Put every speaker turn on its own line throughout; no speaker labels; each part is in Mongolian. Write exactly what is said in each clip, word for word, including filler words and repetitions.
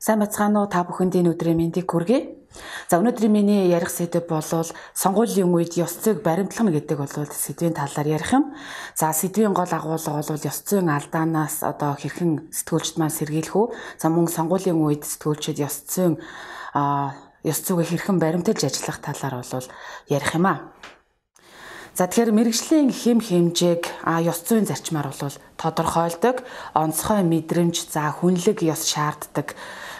Сайн бацгаана уу, та бүхэнд энэ өдрийн мэндийг хүргэе. За өнөөдрийн миний ярих сэдэв бол сонгуулийн үед ёс зүйг баримтлах гэдэг бол сэдвийн талаар ярих юм. За сэдвийн гол агуулга бол ёс зүйн алдаанаас одоо хэрхэн сэтгүүлчд маань сэргийлэх үү? За мөн сонгуулийн үед сэтгүүлчид ёс зүйн а ёс зүйгээ хэрхэн баримталж ажиллах талаар бол ярих юм аа. За тэгэхээр мэргэжлийн хэм хэмжээг а ёс зүйн зарчмаар бол тодорхойлдог, онцгой мэдрэмж, за хүнлэг ёс шаарддаг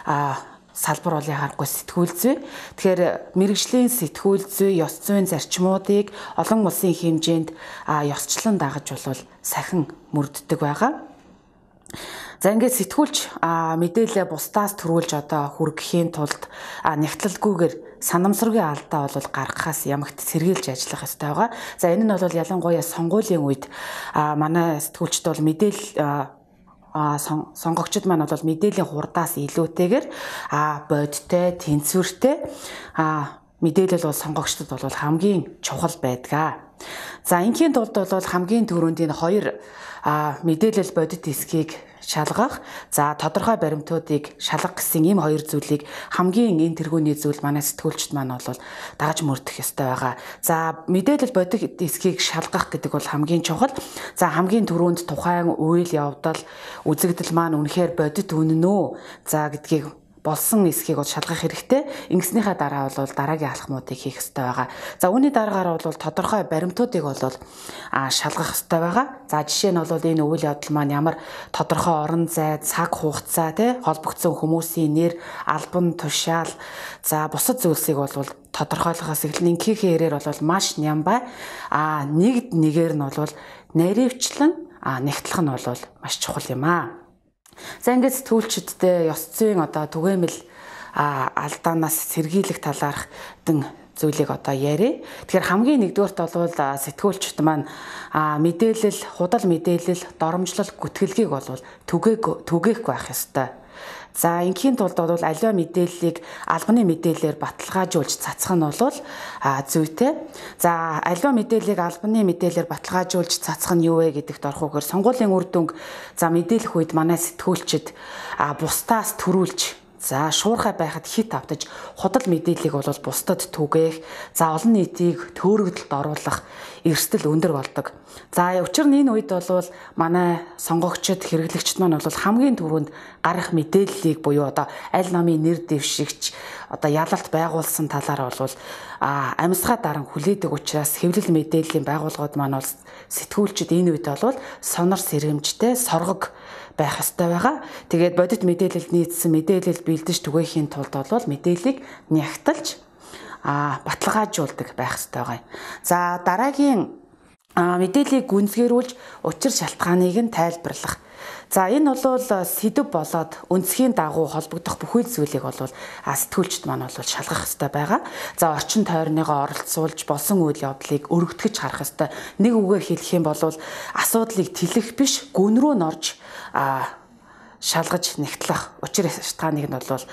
а салбар бол яхахгүй сэтгүүл зүй. Тэгэхээр мэргэжлийн сэтгүүл зүй ёс зүйн зарчмуудыг олон улсын хэмжээнд а ёсчлон дагаж бол сахин мөрддөг байгаа. За ингээд сэтгүүлч а мэдээлэл бусдаас төрүүлж одоо хүргэхийн тулд а нягтлалгүйгээр санамсаргүй алдаа бол гаргахаас ямагт сэргийлж ажиллах ёстой байгаа. За энэ нь бол ялангуяа сонгуулийн үед а манай сэтгүүлчд бол мэдээлэл а сонгогчд маань бол мэдээллийн хурдаас илүүтэйгээр а бодиттой, тэнцвэртэй а мэдээлэл бол сонгогчдод бол хамгийн чухал байдаг. За ингийн тулд бол хамгийн түрүүнд энэ хоёр а мэдээлэл бодит эсхийг шалгах, за тодорхой баримтуудыг шалгах гэсэн ийм хоёр зүйлийг хамгийн энэ тэргүүний зүйл манай сэтгүүлчд маань бол дагаж мөрдөх ёстой байгаа. За мэдээлэл бодит эсхийг шалгах гэдэг бол хамгийн чухал. За хамгийн түрүүнд тухайн үйл явдал, үзэгдэл маань үнэхээр бодит үнэн үү? За гэдгийг болсон эсхийг бол шалгах хэрэгтэй. Ингэснийхаа дараа бол дараагийн алхмуудыг хийх ёстой байгаа. За үүний дараагаар бол тодорхой баримтуудыг бол а шалгах ёстой байгаа. За жишээ нь бол энэ үйл явдал маань ямар тодорхой орон зай, цаг хугацаа, тий холбогдсон хүмүүсийн нэр, албан тушаал, за бусад зүйлсийг бол тодорхойлохоос эхлэн ингээхийн хэрээр бол маш нямбай а нэгд нэгээр нь бол наривчлан а нэгтлэх нь бол маш чухал юм аа. За ингээд сэтгүүлчдтэй ёс зүйн одоо түгээмэл алдаанаас сэргийлэх талаарх дэн зүйлийг одоо яриа. Тэгэхээр хамгийн нэгдүгээрт бол сэтгүүлчд маань мэдээлэл, худал мэдээлэл, доромжлол, гүтгэлгийг бол түгээх түгээхгүй байх ёстой. За ингийн тулд бол аливаа мэдээллийг албаны мэдээлэлээр баталгаажуулж цацах нь бол зүйтэй. За аливаа мэдээллийг албаны мэдээлэлээр баталгаажуулж цацах нь юу вэ гэдэгт орохгүйгээр сонгуулийн үр дүнг за мэдээлэх үед манай сэтгүүлчид бусдаас төрүүлж за шуурхай байхад хит автаж худал мэдээллийг бол бусдад түгээх, за олон нийтийг төөрөгдөлд оруулах эрсдэл өндөр болдог. За учир нь энэ үед бол манай сонгогчд, хэрэглэгчд маань бол хамгийн түрүүнд гарах мэдээллийг буюу одоо аль намын нэр дэвшигч одоо ялалт байгуулсан талаар бол а амьсгаа даран хүлээдэг учраас хэвлэл мэдээллийн байгууллагууд маань бол сэтгүүлчд энэ үед бол сонор сэрэмжтэй, соргог байх ёстой байгаа. Тэгээд бодит мэдээлэлд нийцсэн мэдээлэл бэлдэж түгээхийн тулд бол мэдээллийг нягтлж а баталгаажуулдаг байх ёстой байгаа. За дараагийн мэдээллийг гүнзгийрүүлж учир шалтгааныг нь тайлбарлах. За энэ бол сэдэв болоод үндсхийн дагуу холбогдох бүхэл зүйлийг бол сэтгүүлчд маань бол шалгах ёстой байгаа. За орчин тойрныгоо оролцуулж болсон үйл явдлыг өргөтгөж харах ёстой. Нэг үгээр хэлэх юм бол асуудлыг тэлэх биш, гүн рүү норж а шалгаж нэгтлэх учир шалтгааныг нь бол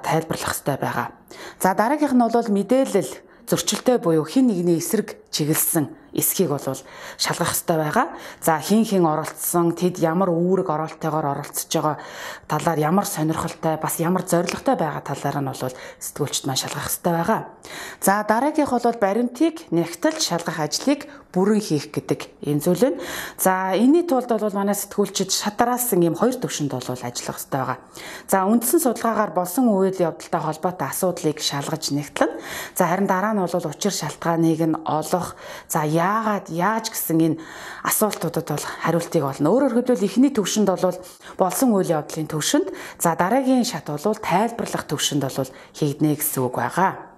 тайлбарлах ёстой байгаа. За дараагийнх нь бол мэдээлэл зөрчилтэй буюу хин нэгний эсрэг чиглэсэн эсхийг бол шалгах ёстой байгаа. За хин хин оролцсон, тэд ямар үүрэг оролтойгоор оролцож байгаа талаар ямар сонирхолтой, бас ямар зоригтой байгаа талаар нь бол сэтгүүлчд маань шалгах ёстой байгаа. За дараагийнх бол баримтыг нягтлж шалгах ажлыг бүрэн хийх гэдэг энэ зүйл нь. За энэний тулд бол манай сэтгүүлчид шатараасан ийм хоёр төвшөнд бол ажиллах ёстой байгаа. За үндсэн судалгаагаар болсон үйл явдалтай холбоотой асуудлыг шалгаж нэгтлэн. За харин дараа нь бол учир шалтгааныг нь олох, за яагаад, яаж гэсэн энэ асуултуудад бол хариултыг олно. Өөрөөр хэлбэл эхний төвшөнд бол болсон үйл явдлын төвшөнд, за дараагийн шат бол тайлбарлах төвшөнд бол хийгднэ гэсэн үг байгаа.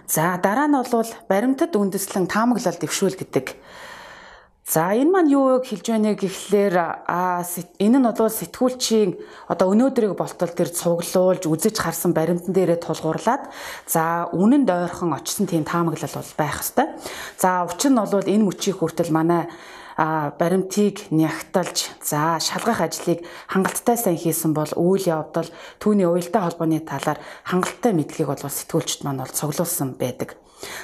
За дараа нь бол баримтад үндэслэн таамаглал дэвшүүл гэдэг. За энэ маань юу хэлж байна гэхлээр а энэ нь бол сэтгүүлчийн одоо өнөөдрийг болтол тэр цуглуулж үзэж харсан баримтан дээрээ тулгуурлаад за үнэнд ойрхон очсон тийм таамаглал бол байх ёстой. За учир нь бол энэ мөчийг хүртэл манай а баримтыг нягтлж за шалгах ажлыг хангалттай сайн хийсэн бол үйл явдал түүний уялдаа холбооны талаар хангалттай мэдлэгийг бол сэтгүүлчд маань бол цуглуулсан байдаг.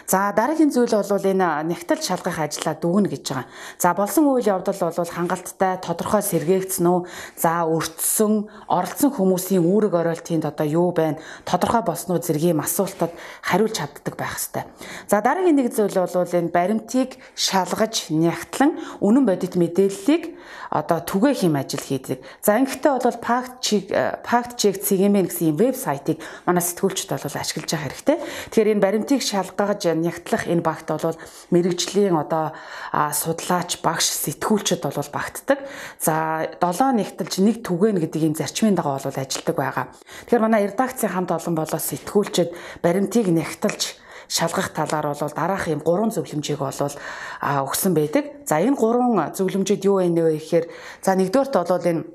За дараагийн зүйл бол энэ нягтлж шалгах ажлаа дүгнэ гэж байгаа. За болсон үйл явдал бол хангалттай тодорхой сэргээгдсэн үү? За өртсөн, оролцсон хүмүүсийн үүрэг оройлтынд одоо юу байна? Тодорхой болсноо зэргийн асуултад хариулж чаддаг байх ёстой. За дараагийн нэг зүйл бол энэ баримтыг шалгаж нягтлан үнэн бодит мэдээллийг одоо түгээх юм ажил хийдэг. За ингэхдээ бол fact check fact check цэгийн гэсэн вебсайтыг манай сэтгүүлчд бол ашиглаж байгаа хэрэгтэй. Тэгэхээр энэ баримтыг шалгаж нягтлах энэ багт бол мэрэгжлийн одоо судлаач, багш, сэтгүүлчд бол багтдаг. За долоо нягтлж нэг түгээн гэдэг ийм зарчмын дагуу бол ажилдаг байгаа. Тэгэхээр манай редакцийн хамт олон болоо сэтгүүлчд баримтыг нягтлж шалгах талаар бол дараах юм гурван зөвлөмжийг бол өгсөн байдаг. За энэ гурван зөвлөмжөд юу вэ нэ гэхээр за нэгдүгээрт бол энэ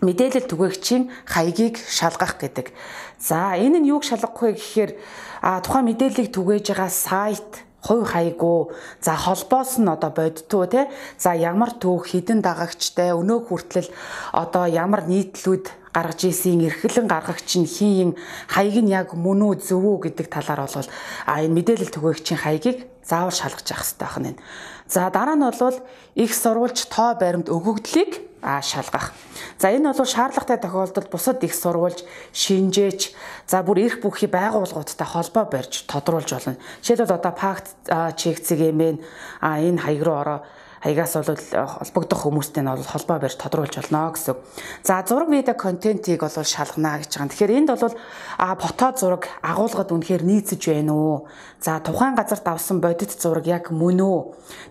мэдээлэл түгээгчийн хаягийг шалгах гэдэг. За энэ нь юуг шалгах вэ гэхээр тухайн мэдээллийг түгээж байгаа сайт, хувь хаягуу, за холбоос нь одоо бодтуу те. За ямар түүх, хідэн дагагчтай, өнөө хүртэл одоо ямар нийтлүүд гаргаж ийсийн эрхлэн гаргагч нь хин хаяг нь яг мөн үү зөв үү гэдэг талаар бол а энэ мэдээлэл түгээгчийн хаягийг заавал шалгаж явах хэрэгтэй байна. За дараа нь бол их сурвалж тоо баримт өгөгдлийг а шалгах. За энэ бол шаардлагатай тохиолдолд бусад их сурвалж, шинжээч, за бүр эрх бүхий байгууллагуудтай холбоо барьж тодруулж болно. Жишээлбэл одоо fact check цэгийн а энэ хаяг руу ороо хаягаас бол холбогдох хүмүүстэй нь бол холбоо барьж тодруулж болно гэсэн. За зураг видео контентийг бол шалгана гэж байгаа. Тэгэхээр энд бол а фото зураг агуулгад үнэхээр нийцэж байна уу? За тухайн газарт авсан бодит зураг яг мөн үү?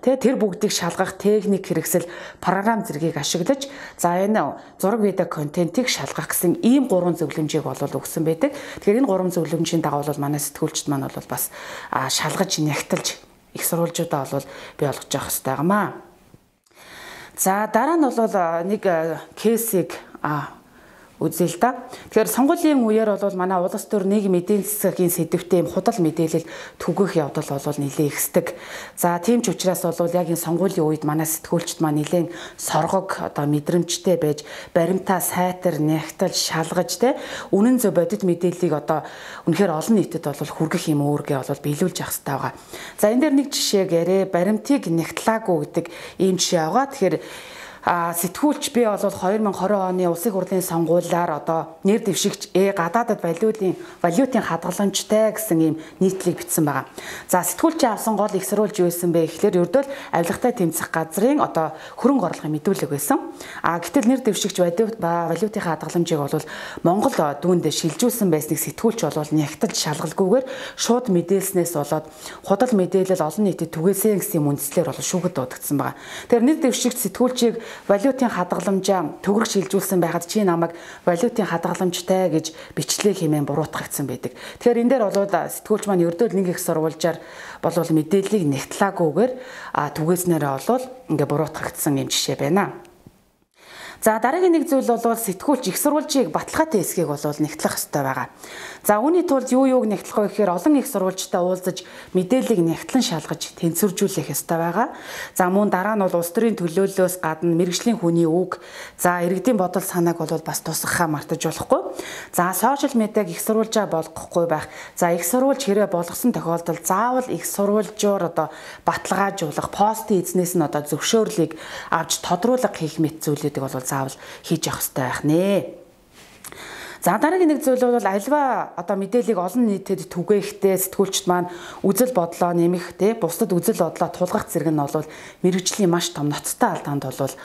Тэ тэр бүгдийг шалгах техник хэрэгсэл програм зэргийг ашиглаж за энэ зураг видео контентийг шалгах гэсэн ийм гурван зөвлөмжийг бол өгсөн байдаг. Тэгэхээр энэ гурван зөвлөмжийн дагуу бол манай сэтгүүлчд маань бол бас шалгаж нягтлж их сурвалжуудаа бол бий болгож явах хэрэгтэй гэмаа. За дараа нь бол нэг кейсийг үзье л да. Тэгэхээр сонгуулийн үеэр бол манай улс төр нийгмийн эдийн засгийн сэдвтэ юм худал мэдээлэл түгэх явдал бол нэлээд ихсдэг. За тийм ч учраас бол яг энэ сонгуулийн үед манай сэтгүүлчд маань нэлээд соргог одоо мэдрэмжтэй байж баримтаа сайтар нягтлж шалгаж те үнэн зөв бодит мэдээллийг одоо үнэхээр олон нийтэд бол хүргэх юм үүргээ бол биелүүлж явах хэрэгтэй байгаа. За энэ дээр нэг жишээг яриа баримтыг нягтлаагүй гэдэг ийм жишээ байгаа. Тэгэхээр А сэтгүүлч би бол две тысячи двадцать оны улсын хурлын сонгуулиар одоо нэр дэвшигч э гадаадад валютын валютын хадгаламжтай гэсэн ийм нийтлэг бичсэн байгаа. За сэтгүүлчийн авсан гол их сурвалж юу байсан бэ гэхээр ердөө авилгатай тэмцэх газрын одоо хөрөнгө оруулалтын мэдүүлэг байсан. А гэтэл нэр дэвшигч валютын хадгаламжийг бол Монгол дүүнд шилжүүлсэн байсныг сэтгүүлч бол нягтлж шалгалгүйгээр шууд мэдээлснээс болоод худал мэдээлэл олон нийтэд түгээсэн гэсэн үндслээр бол шүүхэд дуудагдсан байгаа. Тэгэхээр нэр дэвшигч сэтгүүлчийг валютын хадгаламжаа төгрөг шилжүүлсэн байхад чи намайг валютын хадгаламжтай гэж бичлээ хэмээн буруутгагдсан байдаг. Тэгэхээр энэ дээр бол сэтгүүлч маань ердөө нэг их сурвалжаар болвол мэдээллийг нягтлаагүйгээр түгээснээрээ бол ингээ буруутгагдсан юм жишээ байна. За дараагийн нэг зүйл бол сэтгүүлч их сурвалжийг баталгаатай хэсгийг бол нягтлах хэрэгтэй байгаа. За үүний тулд юу юуг нягтлах вэ гэхээр олон их сурвалжтай уулзаж мэдээллийг нягтлан шалгаж тэнцвэржүүлэх хэрэгтэй байгаа. За мөн дараа нь бол улс төрийн төлөөллөөс гадна мэрэгжлийн хүний үг, за иргэдийн бодол санааг бол бас тусгахаа мартаж болохгүй. За сошиал медиаг их сурвалжаа болгохгүй байх. За их сурвалж хэрэг болгосон тохиолдолд заавал их сурвалжуур одоо баталгаажуулах, постын эзнээс нь одоо зөвшөөрлийг авч тодруулга хийх мэт зүйлүүдийг бол заавал хийж явах хэрэгтэй байх нэ. За дараагийн нэг зүйл бол альва одоо мэдээллийг олон нийтэд түгээхдээ сэтгүүлчд маань үзэл бодлоо нэмэх те бусдад үзэл бодлоо тулгах зэрэг нь бол мэрэгжлийн маш том ноцтой алдаанд бол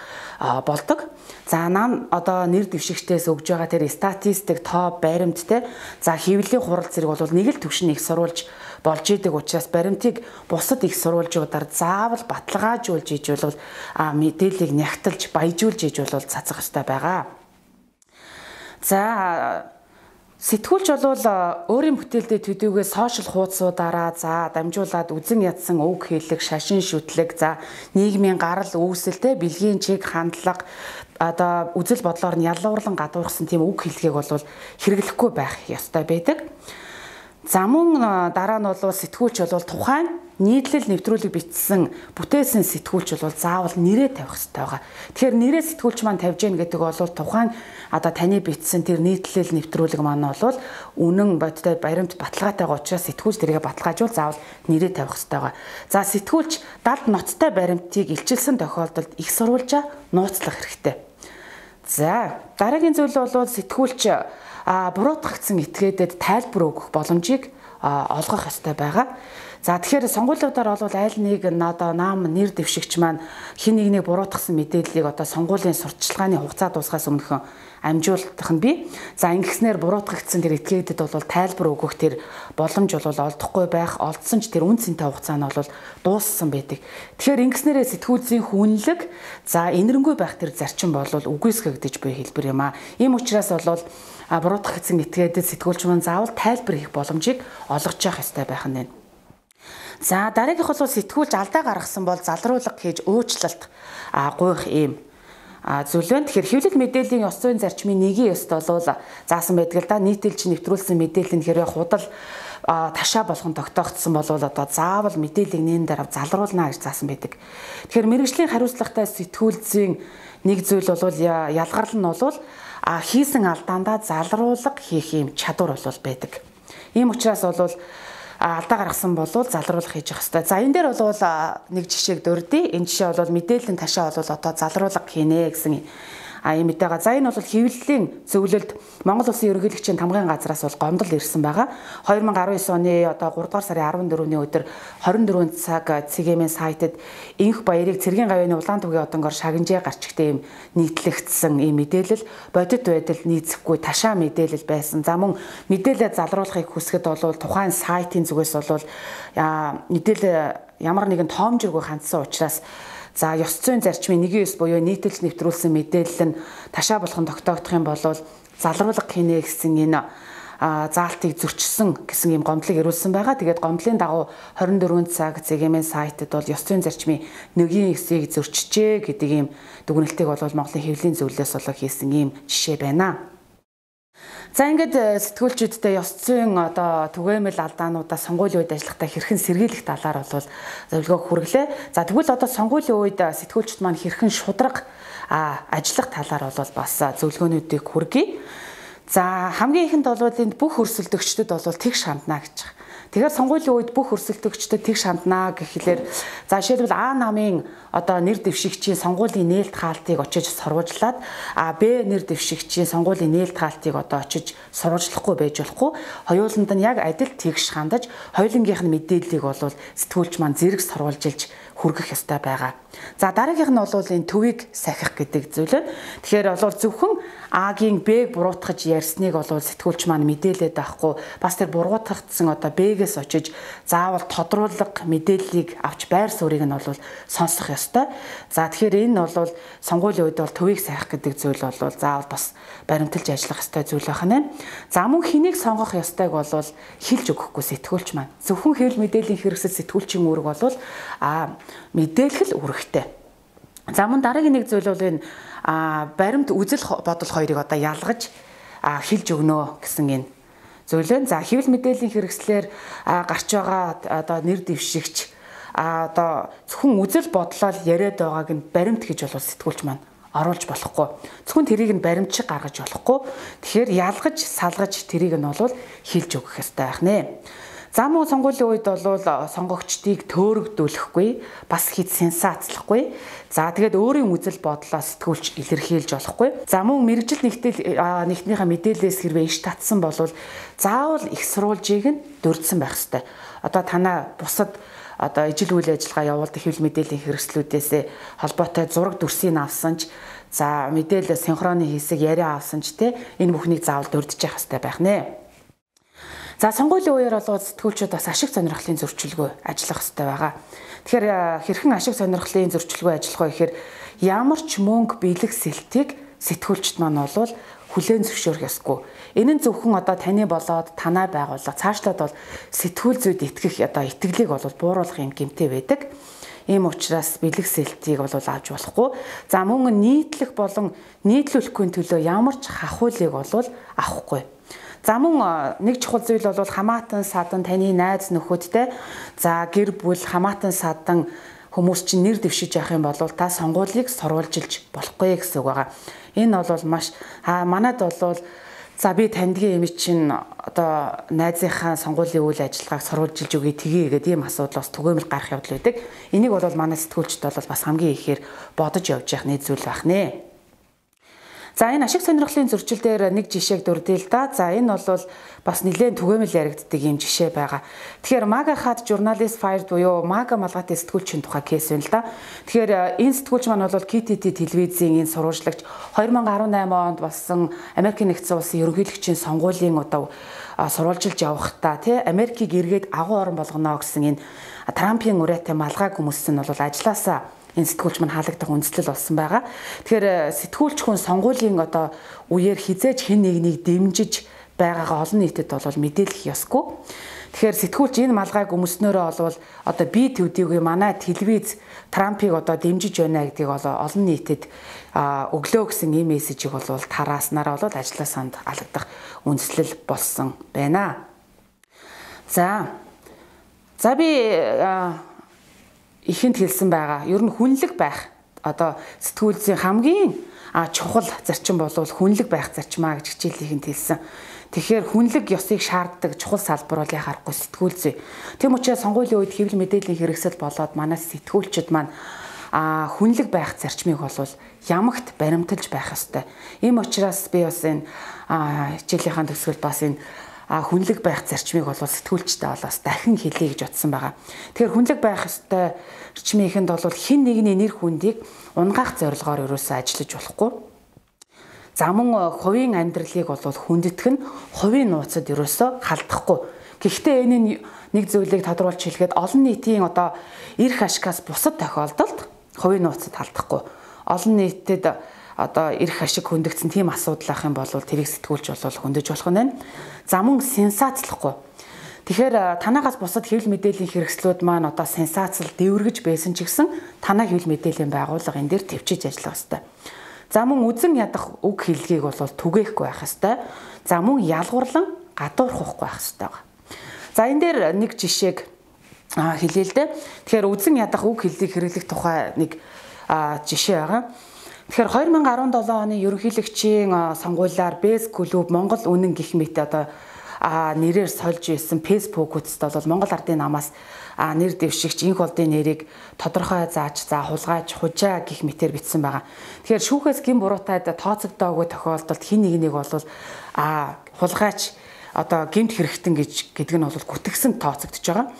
болдог. За нам одоо нэр дэвшигчдээс өгж байгаа тэр статистик, тоо, баримт те за хэвлэлийн хурал зэрэг бол нэг л төвшин их сурвалж болж идэг учраас баримтыг бусад их сурвалжуудаар заавал баталгаажуулж иж бол мэдээллийг нягтлж баяжуулж иж бол цацах хэрэгтэй байгаа. За сэтгүүлч бол өөрийн бүтээлдээ төдийгүй сошиал хуудасуудаараа за дамжуулаад үзэн ядсан үг хэллэг, шашин шүтлэг, за нийгмийн гарал үүсэлтэй бэлгийн чиг хандлага одоо үзэл бодлоор нь ялуурлан гадуурхсан тийм үг хэллэгийг бол хэрэглэхгүй байх ёстой байдаг. За мөн дараа нь бол сэтгүүлч бол тухайн нийтлэл нэвтрүүлэг бичсэн бүтээсэн сэтгүүлч бол заавал нэрээ тавих хэрэгтэй байгаа. Тэгэхээр нэрээ сэтгүүлч маань тавьж гэн гэдэг бол тухайн одоо таны бичсэн тэр нийтлэл нэвтрүүлэг маань бол үнэн бодтой баримт баталгаатайгаа учраас сэтгүүлч тэргээ баталгаажуул заавал нэрээ тавих хэрэгтэй байгаа. За сэтгүүлч далд ноцтой баримтыг илчилсэн тохиолдолд их сурвалжаа нууцлах хэрэгтэй. За дараагийн зүйл бол сэтгүүлч буруутгагдсан этгээдэд тайлбар өгөх боломжийг олгох ёстой байгаа. За тэгэхээр сонгуулиудаар бол аль нэг одоо наам нэр дэвшигч маань хин нэгнийг буруутгасан мэдээллийг одоо сонгуулийн сурталчилгааны хугацаа дуусгаас өмнөхөн амжуулах нь бий. За ингэснээр буруутгагдсан тэр этгээдэд бол тайлбар өгөх тэр боломж бол олдохгүй байх, олдсон ч тэр үн цэнтэй хугацаа нь бол дууссан байдаг. Тэгэхээр ингэснээрээ сэтгүүлзийн хүнлэг за инэрэнгүй байх тэр зарчим бол үгүйсгэгдэж буй хэлбэр юм аа. Ийм учраас бол буруутгагдсан этгээдэд сэтгүүлч маань заавал тайлбар хийх боломжийг олгож явах ёстой байх нь. За дараагийнх бол сэтгүүлч алдаа гаргасан бол залруулга хийж уучлалт гуйх ийм зүйл байна. Тэгэхээр хэвлэл мэдээллийн ёс зүйн зарчмын нэгэн ёст бол заасан байдаг л да. Нийтэлж нэвтрүүлсэн мэдээлэл нь хэрвээ худал ташаа болгон тогтоогдсон бол одоо заавал мэдээллийг нээн дараа залруулна гэж заасан байдаг. Тэгэхээр мэргэжлийн хариуцлагатай сэтгүүлзийн нэг зүйл бол ялгарл нь бол хийсэн алдаандаа залруулга хийх юм чадвар бол байдаг. Ийм учраас бол алдаа гаргасан бол залруулах хийж явах хэрэгтэй. За энэ дээр бол нэг жишээг дурдъя. Энэ жишээ бол мэдээллийн ташаа бол одоо залруулга хийнэ гэсэн а юм этэйга. За энэ бол хэвлэлийн зөвлөлд Монгол Улсын ерөнхийлөгчийн тамгын газраас бол гомдол ирсэн байгаа. две тысячи десять оны одоо гурав дугаар сарын арван дөрөвний өдөр хорин дөрвөн цаг цэгийн сайтад инх баярыг цэргийн гавьяаны улаан түвгийн одонгоор шагнажээ гарчигтэй юм нийтлэгдсэн ийм мэдээлэл бодит байдал нийцэхгүй ташаа мэдээлэл байсан. За мөн мэдээлэл залруулахыг хүсэхэд бол тухайн сайтын зүгээс бол мэдээлэл ямар нэгэн тоомжиргүй хандсан учраас за ёс зүйн зарчмын нэгэн ёс буюу нийтэлж нэвтрүүлсэн мэдээлэл нь ташаа болгон тогтоогдох юм бол залруулга хийнэ гэсэн энэ заалтыг зөрчсөн гэсэн юм гомдлыг ирүүлсэн байгаа. Тэгээд гомдлын дагуу хорин дөрвөн цаг цэгийн сайтад бол ёс зүйн зарчмын нэгэн ёсыг зөрчижээ гэдэг ийм дүгнэлтийг бол Монголын хэвлэлийн зөвлөлөөс болоо хийсэн ийм жишээ байна. За ингээд сэтгүүлчүүдтэй ёс зүйн одоо түгээмэл алдаануудаа сонгуулийн үед ажиллахдаа хэрхэн сэргийлэх талаар бол зөвлөгөө хүргэлээ. За тэгвэл одоо сонгуулийн үед сэтгүүлчд маань хэрхэн шударга ажиллах талаар бол бас зөвлөгөөнүүдийг хүргэе. За хамгийн ихэнд бол энд бүх өрсөлдөгчдөд бол тэгш хандна гэж байна. Тэгэхээр сонгуулийн үед бүх өрсөлдөгчдөд тэгш хандна гэхлээр за жишээлбэл А намын одоо нэр дэвшигчийн сонгуулийн нээлт хаалтыг очиж сурвалжлаад А Б нэр дэвшигчийн сонгуулийн нээлт хаалтыг одоо очиж сурвалжлахгүй байж болохгүй. Хоёуланд нь яг адил тэгш хандаж хоёулынгийнх нь мэдээллийг бол сэтгүүлч маань зэрэг сурвалжилж хүргэх ёстой байгаа. За дараагийнх нь бол энэ төвийг сахих гэдэг зүйл байна. Тэгэхээр бол зөвхөн А-гийн Б-г буруутгаж ярьсныг бол сэтгүүлч маань мэдээлээд байхгүй бас тэр буруутгагдсан одоо Б-гээс очиж заавал тодруулга мэдээллийг авч байр суурийг нь бол сонсох ёстой. За тэгэхээр энэ бол сонгуулийн үед бол төвийг сахих гэдэг зүйл бол заавал бас баримталж ажиллах ёстой зүйл байна. За мөн хэнийг сонгох ёстойг бол хэлж өгөхгүй сэтгүүлч маань. Зөвхөн хэвлэл мэдээллийн хэрэгсэл сэтгүүлчийн үүрэг бол а мэдээлэл үүрэгтэй. За мөн дараагийн нэг зүйл бол энэ баримт үзэл бодол хоёрыг одоо ялгаж хэлж өгнө гэсэн энэ зүйл байна. За хэвлэл мэдээллийн хэрэгслээр гарч байгаа одоо нэр дэвшигч одоо зөвхөн үзэл бодлоо яриад байгааг нь баримт гэж бол сэтгүүлч маань оруулж болохгүй. Зөвхөн тэрийг нь баримтчиг гаргаж болохгүй. Тэгэхээр ялгаж, салгаж тэрийг нь бол хэлж өгөх ёстой байх нэ. За мөн сонгуулийн үед бол сонгогчдыг төөрөгдүүлэхгүй, бас хит сенсацлахгүй. За тэгээд өөрийн үзэл бодлоо сэтгүүлч илэрхийлж болохгүй. За мөн мэрэгжил нэгтэл нэгтнийхээ мэдээлэлээс хэрвээ иш татсан бол заавал их сурвалжийг нь дурдсан байх ёстой. Одоо танаа бусад одоо ижил үйл ажиллагаа явуулдаг хэвлэл мэдээллийн хэрэгслүүдээс холбоотой зураг дүрсийг авсан ч за мэдээлэл синхроны хийсэг яриа авсан ч те энэ бүхнийг заавал дурдж явах хэрэгтэй байх нэ. За сонгуулийн үеэр бол сэтгүүлчид бас ашиг сонирхлын зөрчилгүй ажиллах хэрэгтэй байгаа. Тэгэхээр хэрхэн ашиг сонирхлын зөрчилгүй ажиллах вэ гэхээр ямар ч мөнгө бэлэг сэлтийг сэтгүүлчд маань бол хүлээн зөвшөөрөх ёсгүй. Энэ нь зөвхөн одоо таны болоод танаа байгууллага цаашлаад бол сэтгүүл зүйд итгэх одоо итгэлийг бол бууруулах юм гэмтэй байдаг. Ийм учраас бэлэг сэлтийг бол авч болохгүй. За мөн нийтлэх болон нийтлүүлэхгүй төлөө ямар ч хахуулыг бол авахгүй. За мөн нэг чухал зүйл бол хамаатан садан таны найз нөхөдтэй за гэр бүл хамаатан садан хүмүүс чинь нэр дэвшиж явах юм бол та сонгуулийг сурвалжилж болохгүй гэсэн үг байгаа. Энэ бол маш манайд бол за би тандгийн эми чинь одоо найзынхаа сонгуулийн үйл ажиллагааг сурвалжилж өгье тгий гэдэг ийм асуудал бас түгээмэл гарах явдал байдаг. Энийг бол манай сэтгүүлчд бол бас хамгийн ихээр бодож явж явах нэг зүйл байх нэ. За энэ ашиг сонирхлын зөрчил дээр нэг жишээг дурдъя л да. За энэ бол бас нэлээд түгээмэл яригддаг юм жишээ байгаа. Тэгэхээр Мага хад журналист fired буюу Мага малгайтай сэтгүүлчийн тухай кейс байна л да. Тэгэхээр энэ сэтгүүлч маань бол Ки Ти Ти телевизийн энэ сурвалжлагч хоёр мянга арван найман онд болсон Америкийн нэгдсэн улсын ерөнхийлөгчийн сонгуулийн одоо сурвалжилж явахдаа тий Америкийг эргээд агуу орн болгоно гэсэн энэ Трампын ураатай малгай хүмүүс нь бол ажилласаа энэ сэтгүүлч маань хаалгадах үндэслэл болсон байгаа. Тэгэхээр сэтгүүлч хүн сонгуулийн одоо үеэр хизээж хэн нэгнийг дэмжиж байгаагаа олон нийтэд бол мэдээлэх ёсгүй. Тэгэхээр сэтгүүлч энэ малгайг өмснөөрөө болвол одоо би төдийгүй манай телевиз Трампыг одоо дэмжиж байна гэдгийг бол олон нийтэд өглөө гэсэн ийм мессежийг бол тарааснараа бол ажлаа санд алгадах үндэслэл болсон байна. За. За би ихэнд хэлсэн байгаа. Ер нь хүнлэг байх одоо сэтгүүлчийн хамгийн чухал зарчим бол хүнлэг байх зарчмаа гэж хичээлийнхэнд хэлсэн. Тэгэхээр хүнлэг ёсыг шаарддаг чухал салбар бол яхахгүй сэтгүүлзээ. Тэм учраас сонгуулийн үед хэвлэл мэдээллийн хэрэгсэл болоод манай сэтгүүлчид маань а хүнлэг байх зарчмыг бол ямагт баримталж байх ёстой. Ийм учраас би бас энэ хичээлийнхаа төгсгөлд бас энэ хүнлэг байх зарчмыг бол сэтгүүлчтэй бол бас дахин хэлье гэж бодсон байгаа. Тэгэхээр хүнлэг байх ёстой зарчмынхэнд бол хэн нэгний нэр хүндийг унгаах зорилгоор ерөөсөө ажиллаж болохгүй. За мөн хувийн амьдралыг бол хүндэтгэх нь хувийн нууцад ерөөсөө халдахгүй. Гэхдээ энэ нэг зүйлийг тодруулж хэлгээд олон нийтийн одоо эрх ашигаас бусад тохиолдолд хувийн нууцад халдахгүй. Олон нийтэд одоо эрх ашиг хөндөгдсөн тийм асуудал ах юм бол тэрийг сэтгүүлч бол хөндөж болох нь байна. За мөн сенсацлахгүй. Тэгэхээр танаагаас бусад хэвлэл мэдээллийн хэрэгслүүд маань одоо сенсацл дэвэргэж байсан ч гэсэн танаа хэвлэл мэдээллийн байгууллага энэ дээр төвчиж ажиллах ёстой. За мөн үзэн ядах үг хэллэгийг бол түгээхгүй байх ёстой. За мөн ялгуурлан гадуурхахгүй байх ёстой. За энэ дээр нэг жишээг хэлээ л дээ. Тэгэхээр үзэн ядах үг хэллийг хэрэглэх тухай нэг жишээ байгаа. Тэгэхээр хоёр мянга арван долоо оны ерөнхийлөгчийн сонгуулиар Бэс клуб Монгол үнэн гэх мэт одоо нэрээр сольж ирсэн Facebook үст бол Монгол ардын намаас нэр дэвшигч инх болдын нэрийг тодорхой зааж за хулгайч хужаа гэх мэтээр бичсэн байгаа. Тэгэхээр шүүхээс гин буруутайд тооцогдоогүй тохиолдолд хин нэг нэг бол хулгайч одоо гэмт хэрэгтэн гэж гэдэг нь бол гүтгсэн тооцогдож байгаа.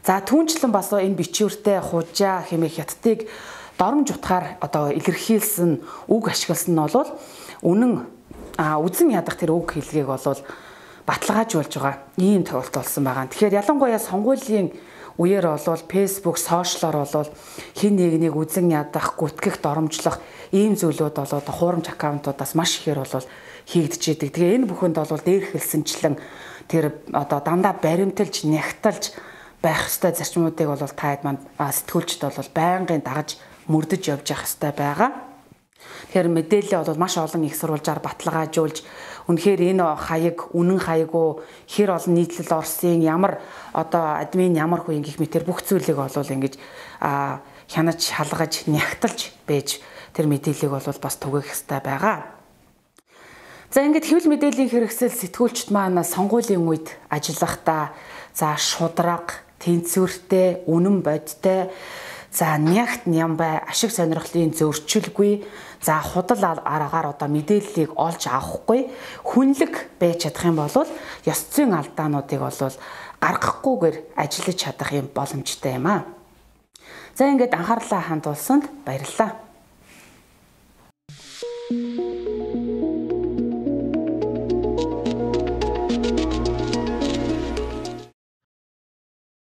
За түүнчлэн бас энэ бичвэртэй хужаа хэмээх хятадыг доромж утгаар одоо илэрхийлсэн үг ашигласан нь бол үнэн үзэн ядах тэр үг хэллэгийг бол баталгаажуулж байгаа ийм тохиолдол болсон байгаа. Тэгэхээр ялангуяа сонгуулийн үеэр бол Facebook, сошиалор бол хин нэгнийг үзэн ядах, гүтгэх, доромжлох ийм зүйлүүд бол одоо хуурамч аккаунтуудаас маш ихээр бол хийгдэж идэг. Тэгээ энэ бүхэнд бол дээр хэлсэнчлэн тэр одоо дандаа баримталж, нягталж байх ёстой зарчмуудыг бол таад манд сэтгүүлчд бол байнгын дагаж мөрдөж явж явах ёстой байгаа. Тэгэхээр мэдээлэл бол маш олон их сурвалжаар баталгаажуулж үнэхээр энэ хаяг үнэн хаяг уу хэр олон нийтлэл орсон ямар одоо админ ямар хүн гэх мэтэр бүх зүйлийг бол ингэж хянаж шалгаж нягталж байж тэр мэдээллийг бол бас түгээх ёстой байгаа. За ингээд хэвлэл мэдээллийн хэрэгсэл сэтгүүлчд маань сонгуулийн үед ажиллахдаа за шудраг, тэнцвэртэй, үнэн бодтой за нягт нямбай ашиг сонирхлын зөрчилгүй за худал аргаар одоо мэдээллийг олж авахгүй хүнлэг байж чадах юм бол ёс зүйн алдаануудыг бол гаргахгүйгээр ажиллаж чадах юм боломжтой юм аа. За ингээд анхаарлаа хандуулсанд баярлалаа.